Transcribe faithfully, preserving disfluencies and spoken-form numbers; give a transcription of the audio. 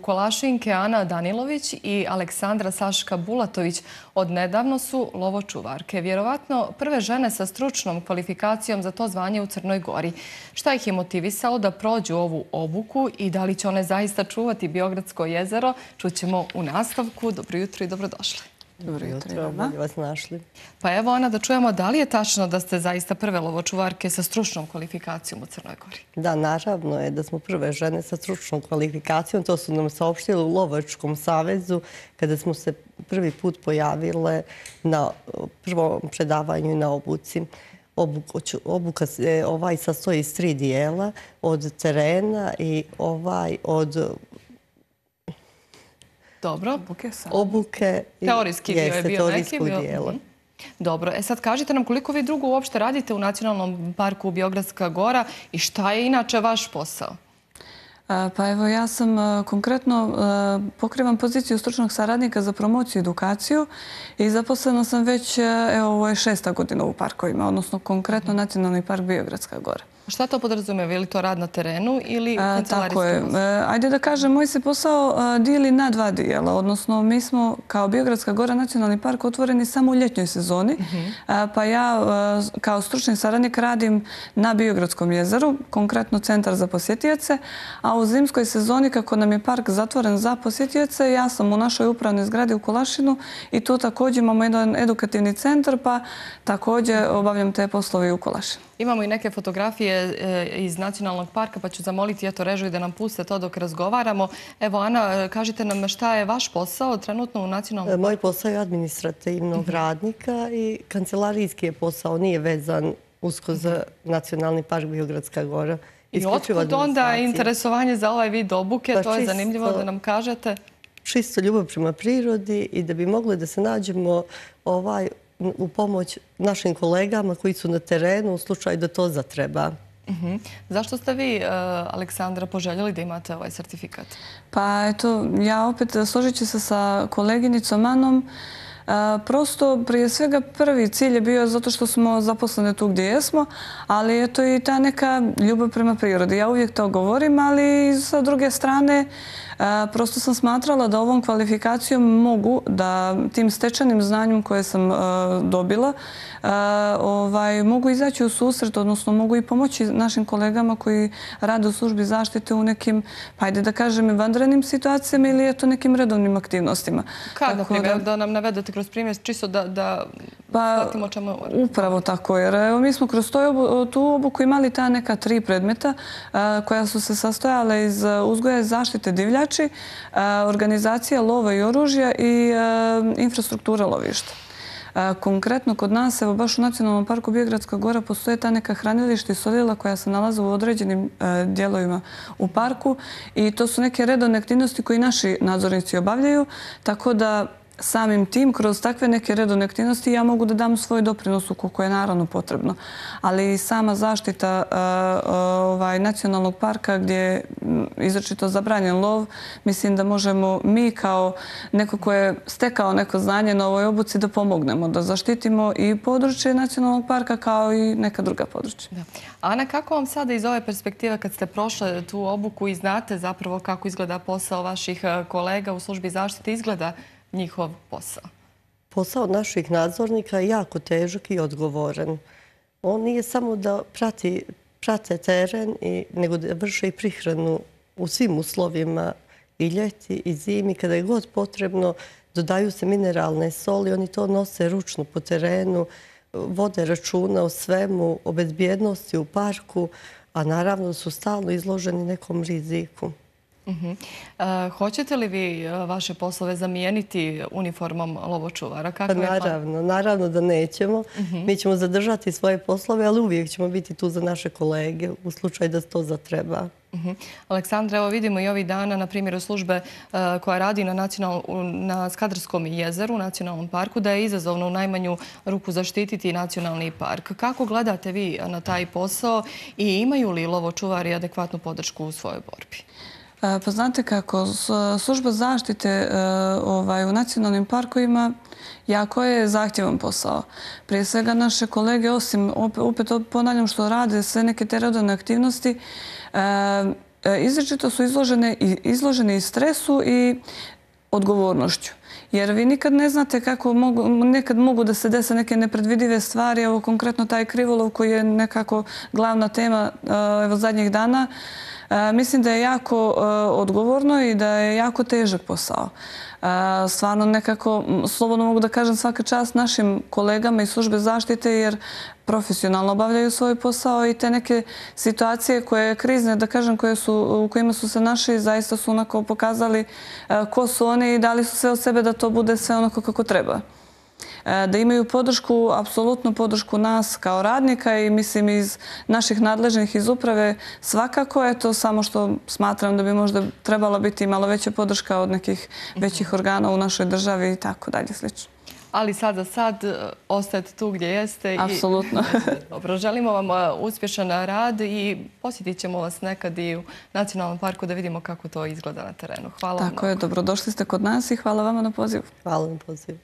Kolašinke Ana Danilović i Aleksandra Saška Bulatović odnedavno su lovočuvarke. Vjerovatno prve žene sa stručnom kvalifikacijom za to zvanje u Crnoj Gori. Šta ih je motivisalo da prođu ovu obuku i da li će one zaista čuvati Biogradsko jezero, čućemo u nastavku. Dobro jutro i dobrodošli. Dobro jutro, bolje vas našli. Pa evo, Ana, da čujemo da li je tačno da ste zaista prve lovočuvarke sa stručnom kvalifikacijom u Crnoj Gori? Da, naravno je da smo prve žene sa stručnom kvalifikacijom. To su nam saopštili u Lovačkom savezu kada smo se prvi put pojavile na prvom predavanju i na obuci. Obuka se ovaj sastoji iz tri dijela, od terena i ovaj od Dobro. obuke. Teorijski dio je bio neki. Dijela. Dobro. E sad kažite nam koliko vi drugo uopšte radite u Nacionalnom parku Biogradska Gora i šta je inače vaš posao? Pa evo, ja sam konkretno pokrivam poziciju stručnog saradnika za promociju i edukaciju i zaposlena sam već, evo, ovo je šesta godina u parkovima, odnosno konkretno Nacionalni park Biogradska Gora. Šta to podrazumijeva? Je li to rad na terenu ili kancelarijski Tako je. Ajde da kažem, moj se posao dijeli na dva dijela. Odnosno, mi smo kao Biogradska Gora Nacionalni park otvoreni samo u ljetnjoj sezoni. Pa ja kao stručni saradnik radim na Biogradskom jezeru, konkretno Centar za posjetioce. A u zimskoj sezoni, kako nam je park zatvoren za posjetioce, ja sam u našoj upravnoj zgradi u Kolašinu i tu također imamo jedan edukativni centar, pa također obavljam te poslove u Kolašinu. Imamo i neke fotografije iz Nacionalnog parka, pa ću zamoliti eto režiju da nam puste to dok razgovaramo. Evo, Ana, kažite nam šta je vaš posao trenutno u Nacionalnom parku? Moj posao je administrativnog radnika i kancelarijski je posao, nije vezan usko za Nacionalni park Biogradska Gora. I otkud onda interesovanje za ovaj vid obuke? To je zanimljivo da nam kažete. Čisto ljubav prema prirodi i da bi mogli da se nađemo ovaj u pomoć našim kolegama koji su na terenu u slučaju da to zatreba. Zašto ste vi, Aleksandra, poželjeli da imate ovaj sertifikat? Pa eto, ja opet složit ću se sa koleginicom Anom. Prosto, prije svega, prvi cilj je bio zato što smo zaposlene tu gdje jesmo, ali eto i ta neka ljubav prema prirodi. Ja uvijek to govorim, ali sa druge strane prosto sam smatrala da ovom kvalifikacijom mogu, da tim stečenim znanjem koje sam dobila, mogu izaći u susret, odnosno mogu i pomoći našim kolegama koji rade u službi zaštite u nekim, pa ajde da kažem, vanrednim situacijama ili eto nekim redovnim aktivnostima. Kad, na primjer, da nam navedete kroz primjer, čisto da shvatimo čemu... Upravo tako, jer mi smo kroz tu obuku imali ta neka tri predmeta koja su se sastojale iz uzgoja i zaštite divljači, organizacija lova i oružja i infrastruktura lovišta. Konkretno kod nas, evo baš u Nacionalnom parku Biogradska Gora postoje ta neka hranilišta i solila koja se nalaze u određenim dijelovima u parku i to su neke redovne aktivnosti koje naši nadzornici obavljaju, tako da samim tim, kroz takve neke redovne aktivnosti, ja mogu da dam svoj doprinos ukoliko je naravno potrebno. Ali sama zaštita Nacionalnog parka gdje je izričito zabranjen lov, mislim da možemo mi kao neko ko je stekao neko znanje na ovoj obuci da pomognemo, da zaštitimo i područje Nacionalnog parka kao i neka druga područja. Ana, kako vam sada iz ove perspektive kad ste prošle tu obuku i znate zapravo kako izgleda posao vaših kolega u službi zaštite, izgleda njihov posao? Posao naših nadzornika je jako težak i odgovoran. On nije samo da prate teren, nego da vrše i prihranu u svim uslovima i ljeti i zimi. Kada je god potrebno, dodaju se mineralne soli, oni to nose ručno po terenu, vode računa o svemu, o bezbjednosti u parku, a naravno su stalno izloženi nekom riziku. Hoćete li vi vaše poslove zamijeniti uniformom lovočuvara? Naravno, naravno da nećemo. Mi ćemo zadržati svoje poslove, ali uvijek ćemo biti tu za naše kolege u slučaju da to zatreba. Aleksandra, evo vidimo i ovih dana, na primjer, službe koja radi na Skadarskom jezeru, u Nacionalnom parku, da je izazovno u najmanju ruku zaštititi Nacionalni park. Kako gledate vi na taj posao i imaju li lovočuvari adekvatnu podršku u svojoj borbi? Pa znate kako, služba zaštite u nacionalnim parkovima jako je zahtjevan posao. Prije svega naše kolege, osim, opet ponavljam što rade sve neke te redovne aktivnosti, izričito su izloženi i stresu i odgovornošću. Jer vi nikad ne znate kako nekad mogu da se dese neke nepredvidive stvari. Evo konkretno taj krivolov koji je nekako glavna tema evo zadnjih dana. Mislim da je jako odgovorno i da je jako težak posao. Stvarno nekako, slobodno mogu da kažem, svaka čast našim kolegama iz službe zaštite jer profesionalno obavljaju svoj posao i te neke situacije koje krizne, da kažem, koje su, u kojima su se naši, zaista su onako pokazali ko su oni i dali su sve od sebe da to bude sve onako kako treba. Da imaju podršku, apsolutnu podršku nas kao radnika i mislim iz naših nadležnih iz uprave svakako je to, samo što smatram da bi možda trebala biti malo veća podrška od nekih većih organa u našoj državi i tako dalje slično. Ali sad za sad ostajete tu gdje jeste. Apsolutno. Dobro, želimo vam uspješan rad i posjetit ćemo vas nekad i u Nacionalnom parku da vidimo kako to izgleda na terenu. Hvala vam. Tako je, dobrodošli ste kod nas i hvala vama na pozivu. Hvala na pozivu.